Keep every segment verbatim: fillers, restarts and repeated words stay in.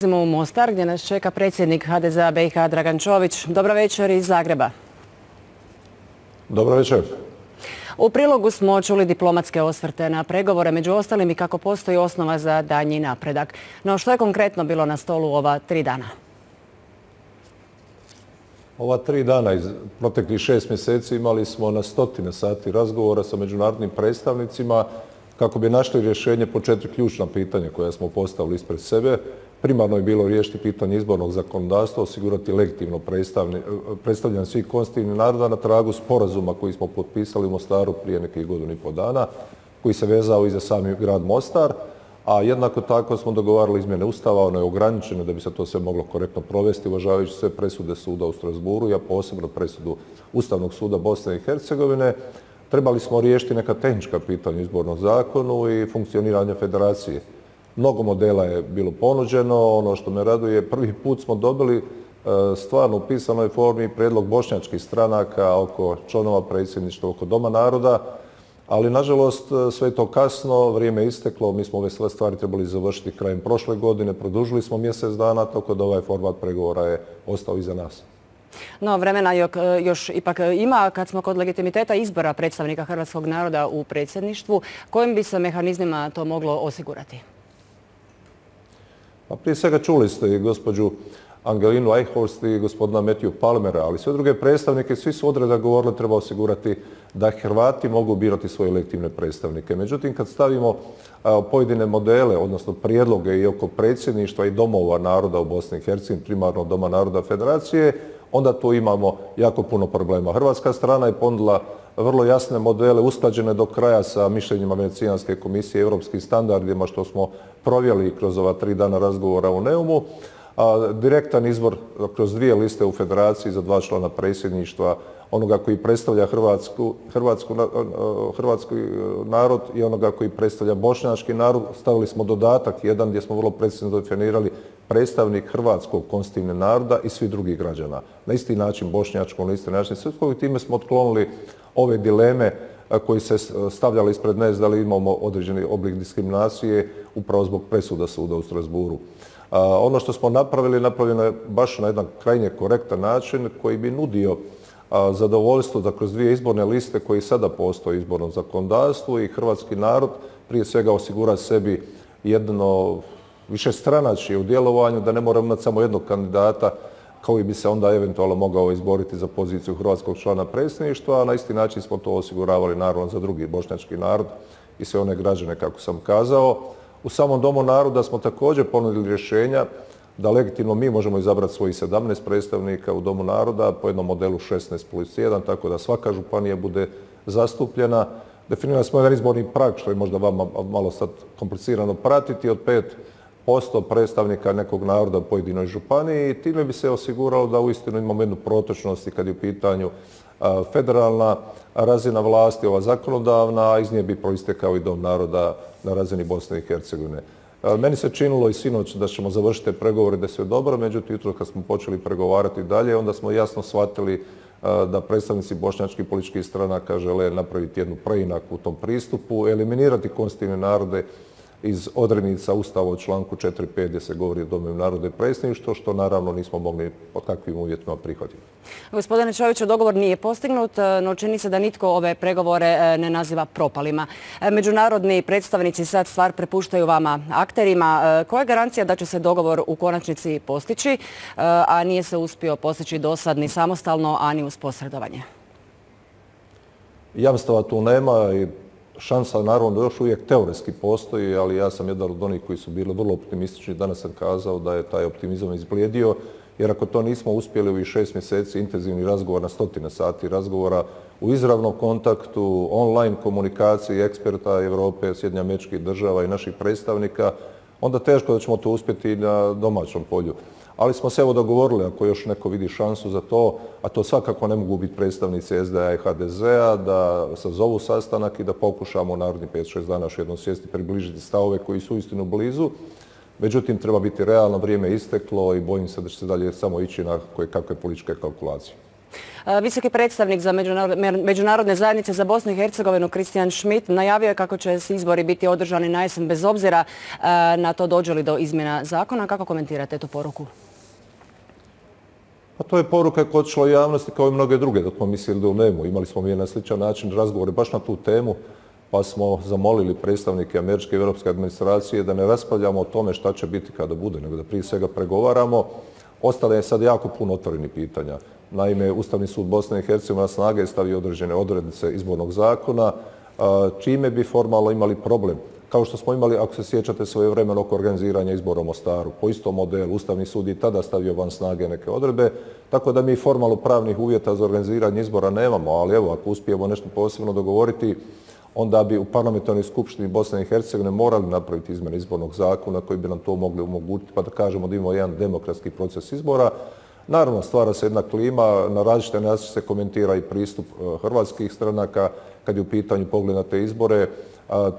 U Mostar, gdje nas čeka predsjednik H D Z-a B i H Dragan Čović. Dobro večer iz Zagreba. Dobro večer. U prilogu smo čuli diplomatske osvrte na pregovore, među ostalim i kako postoji osnova za daljnji napredak. No što je konkretno bilo na stolu ova tri dana? Ova tri dana iz proteklih šest mjeseci imali smo na stotine sati razgovora sa međunarodnim predstavnicima kako bi našli rješenje po četiri ključna pitanja koja smo postavili ispred sebe. Primarno je bilo riješiti pitanje izbornog zakonodavstva, osigurati legitimno predstavljanje svih konstitutivnih naroda na tragu sporazuma koji smo potpisali u Mostaru prije nekih godinu i pol dana, koji se vezao i za sami grad Mostar, a jednako tako smo dogovarali izmjene Ustava, ono je ograničeno da bi se to sve moglo korektno provesti, uvažavajući sve presude suda u Strasburu, a posebno presudu Ustavnog suda Bosne i Hercegovine. Trebali smo riješiti neka tehnička pitanja u izbornom zakonu i funkcioniranje federacije. Mnogo modela je bilo ponuđeno. Ono što me raduje, prvi put smo dobili stvarno u pisanoj formi prijedlog bošnjačkih stranaka oko članova predsjedništva, oko Doma naroda, ali nažalost sve je to kasno, vrijeme je isteklo, mi smo ove sve stvari trebali završiti krajem prošle godine, produžili smo mjesec dana, tako da ovaj format pregovora je ostao iza nas. No, vremena još ipak ima. Kad smo kod legitimiteta izbora predstavnika hrvatskog naroda u predsjedništvu, kojim bi se mehanizmima to moglo osigurati? Pa prije svega čuli ste i gospođu Angelinu Eichhorst i gospodina Matthew Palmera, ali sve druge predstavnike, svi su odreda govorili treba osigurati da Hrvati mogu birati svoje legitimne predstavnike. Međutim, kad stavimo pojedine modele, odnosno prijedloge i oko predsjedništva i domova naroda u Bosni i Hercegovini, primarno Doma naroda Federacije, onda tu imamo jako puno problema. Hrvatska strana je ponudila vrlo jasne modele, usklađene do kraja sa mišljenjima Venecijanske komisije i europskim standardima, što smo provjeli kroz ova tri dana razgovora u Neumu. A direktan izbor kroz dvije liste u federaciji za dva člana predsjedništva, onoga koji predstavlja Hrvatsku, Hrvatsku, hrvatski narod i onoga koji predstavlja bošnjački narod. Stavili smo dodatak jedan gdje smo vrlo precizno definirali predstavnik hrvatskog konstitutivnog naroda i svih drugih građana. Na isti način bošnjačkom, na isti način srpskog, i time smo otklonili ove dileme koji se stavljali ispred nas da li imamo određeni oblik diskriminacije upravo zbog presuda suda u Strasburu. Ono što smo napravili, napravljeno je baš na jedan krajnje korektan način koji bi nudio zadovoljstvo da kroz dvije izborne liste koji sada postoje u izbornom zakonodavstvu i hrvatski narod prije svega osigura sebi jedno višestranačje u djelovanju, da ne mora imati samo jednog kandidata koji bi se onda eventualno mogao izboriti za poziciju hrvatskog člana predsjedništva, a na isti način smo to osiguravali naravno za drugi bošnjački narod i sve one građane, kako sam kazao. U samom Domu naroda smo također ponudili rješenja da legitimno mi možemo izabrati svojih sedamnaest predstavnika u Domu naroda po jednom modelu šesnaest plus jedan, tako da svaka županija bude zastupljena. Definirali smo jedan izborni prag, što je možda vama malo sad komplicirano pratiti, od pet posto predstavnika nekog naroda u pojedinoj županiji, i time bi se osiguralo da uistinu imamo jednu protočnost i kad je u pitanju federalna razina vlasti, ova zakonodavna, a iz nje bi proistekao i Dom naroda na razini Bosne i Hercegovine. Meni se činilo i sinoć da ćemo završiti pregovore, da je sve dobro, međutim jutro kad smo počeli pregovarati dalje, onda smo jasno shvatili da predstavnici bošnjačkih političkih stranaka žele napraviti jednu preinaku u tom pristupu, eliminirati konstitutivne narode iz odrednica Ustava u članku četiri pet gdje se govori o domovima naroda i predsjedništva, što naravno nismo mogli pod takvim uvjetima prihvatiti. Gospodine Čoviću, dogovor nije postignut, no čini se da nitko ove pregovore ne naziva propalima. Međunarodni predstavnici sad stvar prepuštaju vama, akterima. Koja je garancija da će se dogovor u konačnici postići, a nije se uspio postići dosad ni samostalno, a ni uz posredovanje? Jamstava tu nema i šansa naravno još uvijek teoretski postoji, ali ja sam jedan od onih koji su bili vrlo optimistični. Danas sam kazao da je taj optimizam izblijedio, jer ako to nismo uspjeli u ovih šest mjeseci intenzivni razgovor na stotine sati razgovora u izravnom kontaktu, online komunikaciji eksperta Europe, Sjedinjenih Američkih Država i naših predstavnika, onda teško da ćemo to uspjeti na domaćem polju. Ali smo se evo dogovorili, ako još neko vidi šansu za to, a to svakako ne mogu biti predstavnici S D A i H D Z-a, da sazovu sastanak i da pokušamo u narednih pet šest dana još jednom sjesti, približiti stavove koji su uistinu blizu. Međutim, treba biti realno, vrijeme isteklo i bojim se da će se dalje samo ići na koje kakve političke kalkulacije. Visoki predstavnik za međunarodne zajednice za Bosnu i Hercegovinu Christian Schmidt najavio je kako će se izbori biti održani na jesen bez obzira na to dođe li do izmjena zakona. Kako komentirate tu poruku? Pa to je poruka koja je otišla javnosti kao i mnoge druge dok smo mislili da u nemu. Imali smo mi na sličan način razgovore baš na tu temu, pa smo zamolili predstavnike američke i europske administracije da ne raspravljamo o tome šta će biti kada bude, nego da prije svega pregovaramo. Ostalo je sad jako puno otvorenih pitanja. Naime, Ustavni sud Bosne i Hercegovine na snage je stavio određene odrednice izbornog zakona, čime bi formalno imali problem. Kao što smo imali, ako se sjećate, svojevremeno oko organiziranja izbora u Mostaru. Po istom modelu, Ustavni sud je tada stavio van snage neke odredbe, tako da mi formalno pravnih uvjeta za organiziranje izbora nemamo, ali evo, ako uspijemo nešto posebno dogovoriti, onda bi u parlamentarnoj skupštini Bosne i Hercegovine morali napraviti izmjene izbornog zakona koji bi nam to mogli omogućiti, pa da kažemo da imamo jedan demokratski proces izbora. Naravno, stvara se jedna klima, na različite načine se komentira i pristup hrvatskih stranaka kad je u pitanju pogled na te izbore.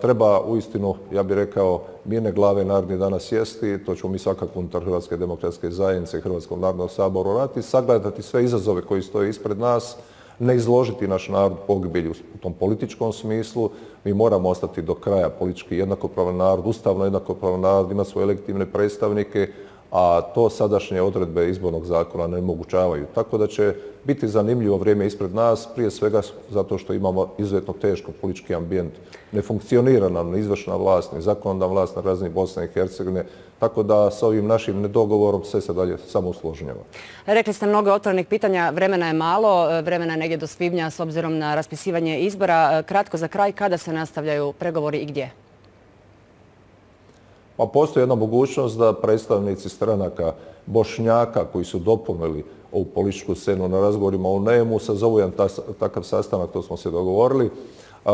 Treba uistinu, ja bih rekao, mirne glave narednih dana sjesti, to ćemo mi svakako unutar Hrvatske demokratske zajednice i Hrvatskog narodnog sabora raditi, sagledati sve izazove koji stoje ispred nas, ne izložiti naš narod pogibelju u tom političkom smislu. Mi moramo ostati do kraja politički jednakopravan narod, ustavno jednakopravan narod, ima svoje legitimne predstavnike, a to sadašnje odredbe izbornog zakona ne omogućavaju. Tako da će biti zanimljivo vrijeme ispred nas, prije svega zato što imamo izuzetno teško politički ambijent. Ne funkcionira nam ni izvršna vlast, ni zakonodavna vlast na razini Bosne i Hercegovine, tako da s ovim našim nedogovorom sve se dalje samo usložnjava. Rekli ste mnogo otvorenih pitanja, vremena je malo, vremena je negdje do svibnja s obzirom na raspisivanje izbora. Kratko za kraj, kada se nastavljaju pregovori i gdje? Pa postoji jedna mogućnost da predstavnici stranaka Bošnjaka koji su dopunili ovu političku scenu na razgovorima u Nemu sazovu jedan takav sastanak, to smo se dogovorili.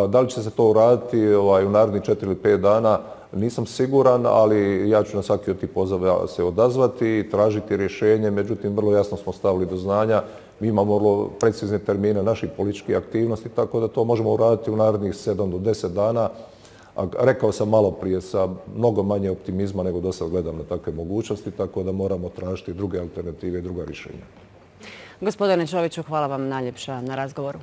Da li će se to uraditi u narednih četiri ili pet dana, nisam siguran, ali ja ću na svaki od tih pozova se odazvati i tražiti rješenje. Međutim, vrlo jasno smo stavili do znanja. Mi imamo vrlo precizne termine naših političkih aktivnosti, tako da to možemo uraditi u narednih sedam do deset dana. Rekao sam malo prije sa mnogo manje optimizma nego do sad gledam na takve mogućnosti, tako da moramo tražiti druge alternative i druga rješenja. Gospodine Čoviću, hvala vam najljepša na razgovoru.